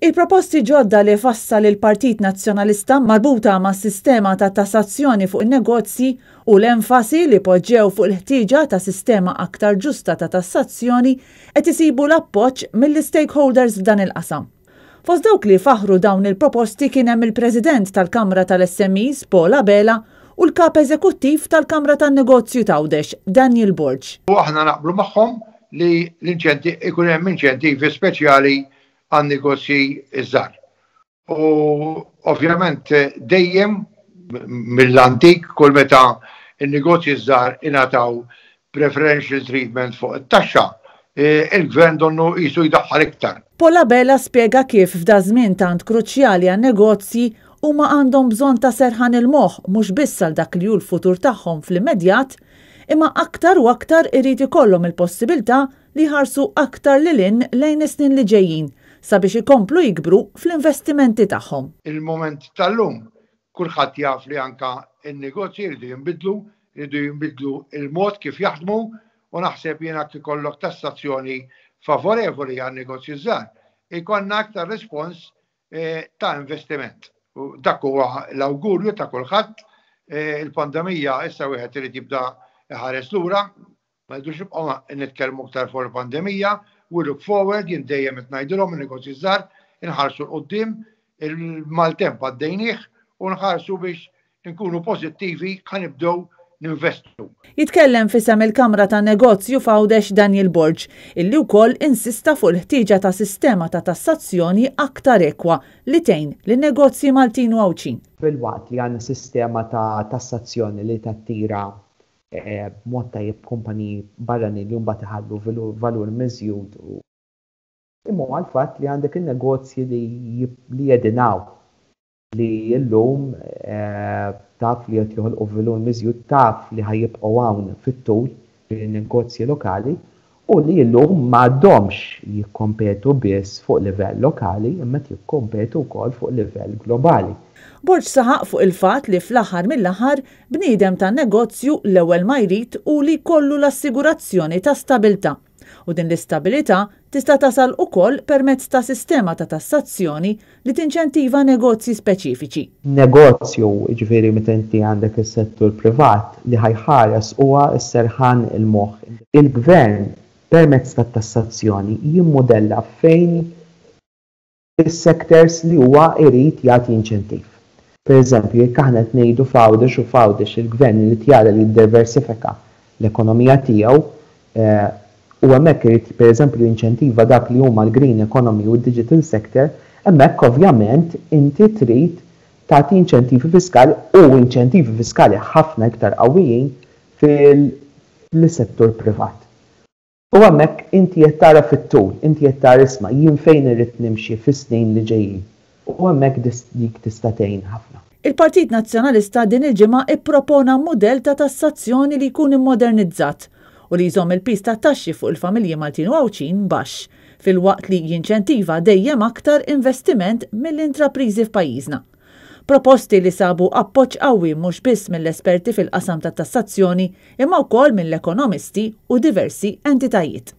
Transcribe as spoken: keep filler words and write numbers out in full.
Il-proposti ġodda li fassal il-Partit Nazzjonalista marbuta ma' sistema ta' tassazzjoni fuq in-negozji u l-enfasi li poġġew fuq il-ħtieġa ta' sistema aktar ġusta ta' tassazzjoni qed isibu l-appoġġ mill-stakeholders f'dan il-qasam. Fost dawk li faħru dawn il-proposti kien hemm il-President tal-Kamra tal-S M Es Paul Abela u l-Kap Eżekuttiv tal-Kamra tan-Negozju t'Għawdex Daniel Borg. U aħna naqblu magħhom li l-inċenti ikun hemm inċentivi speċjali għan negozji iż-żgħar. U ovvjament dejjem mill-antik, kull meta il-negozji żgħar ingħataw preferential treatment fuq it-taxxa, e, il-gvern donnu jisu jdaħħal iktar. Paul Abela spjega kif f'da żmien tant kruċjali għan negozji huma għandhom bżonn ta' serħan il-moħħ, mhux biss għal dak li hu l-futur tagħhom fl-immedjat, imma aktar u aktar irid ikollhom il-possibilità li jħarsu aktar lil hinn lejn is-snin li ġejjin sabiex ikomplu jikbru fl-investimenti tagħhom. Il-moment tal-lum kulħadd jaf li anka il-negozji jridu jinbidlu, jridu jinbidlu il-mod kif jaħdmu, u naħseb jiena ikollok tassazzjoni favorevoli għan negozji żgħar, ikollna aktar respons eh, ta' investiment. U dak huwa l-awgurju ta' kulħadd. eh, il-pandemija issa wieħed irid jibda iħares lura, ma rridux nibqgħu nitkellmu aktar fuq il-pandemija, we look forward. Jien dejjem qed ngħidilhom in-negozji żgħar, inħarsu 'l quddiem, il-maltemp għaddejnieh u nħarsu biex nkunu pożittivi, ħa nibdew ninvestu. Jitkellem f'isem il-Kamra ta' Negozju f'Għawdex Daniel Borg, illi wkoll insista fuq il-ħtieġa ta' sistema ta' tassazzjoni aktar ekwa li tgħin lin-negozji Maltin u Għawdxin. Filwaqt li għandna sistema ta' tassazzjoni li tattira eh, b'mod tajjeb kumpaniji barranin li mbagħad iħallu valur miżjud u imma għal-fatt li għandek il-negozji li li jedinaw li llum eh, taf li qed joħolqu valur miżjud, taf li ħa jibqgħu hawn fit-tul, negozji lokali, u li llum m'għadhomx jikkompetu biss fuq livell lokali imma jikkompetu wkoll fuq livell globali. Borg saħaq fuq il-fat li fl-aħħar mill-aħħar bniedem ta' negozju l-ewwel ma jrid u li kollu l-assigurazzjoni ta' stabilità. U din l-istabilità tista' tasal ukoll permezz ta' sistema ta' tassazzjoni li tinċentiva negozji speċifiċi. Negozju, ġifieri meta inti għandek is-settur privat, li ħa jħares huwa s-serħan il-moħħ. Il-gvern permezz ta' tassazzjoni jimmodella fejn is-sectors li huwa irid jagħti inċentiv. Per eżempju, jekk aħna qed ngħidu f'Għawdex u f'Għawdex il-gvern li jara li jiddiversifika l-ekonomija tiegħu eh, u hemmhekk irid, pereżempju, jinċentiva dak li huma l-green economy u d-digital sector, hemmhekk ovvjament inti trid tagħti inċentivi fiskali u inċentivi fiskali ħafna iktar qawwijin fil-settur privat. U hemmhekk inti qed tara fit-tul, inti qed tara, isma', jien fejn irrid nimxi fis-snin li ġejjin. U hemmhekk dik tista' tgħin ħafna. Il-Partit Nazzjonalista din il-ġimgħa ippropona mudell ta' tassazzjoni li jkun immodernizzat u li jżomm il-piż ta' taxxi fuq il-familji Maltin u Għawdxin baxx, filwaqt li jinċentiva dejjem aktar investiment mill-intrapriżi f'pajjiżna. Proposti li sabu appoġġ qawwi mhux biss mill-esperti fil-qasam ta' tassazzjoni imma wkoll mill-ekonomisti u diversi entitajiet.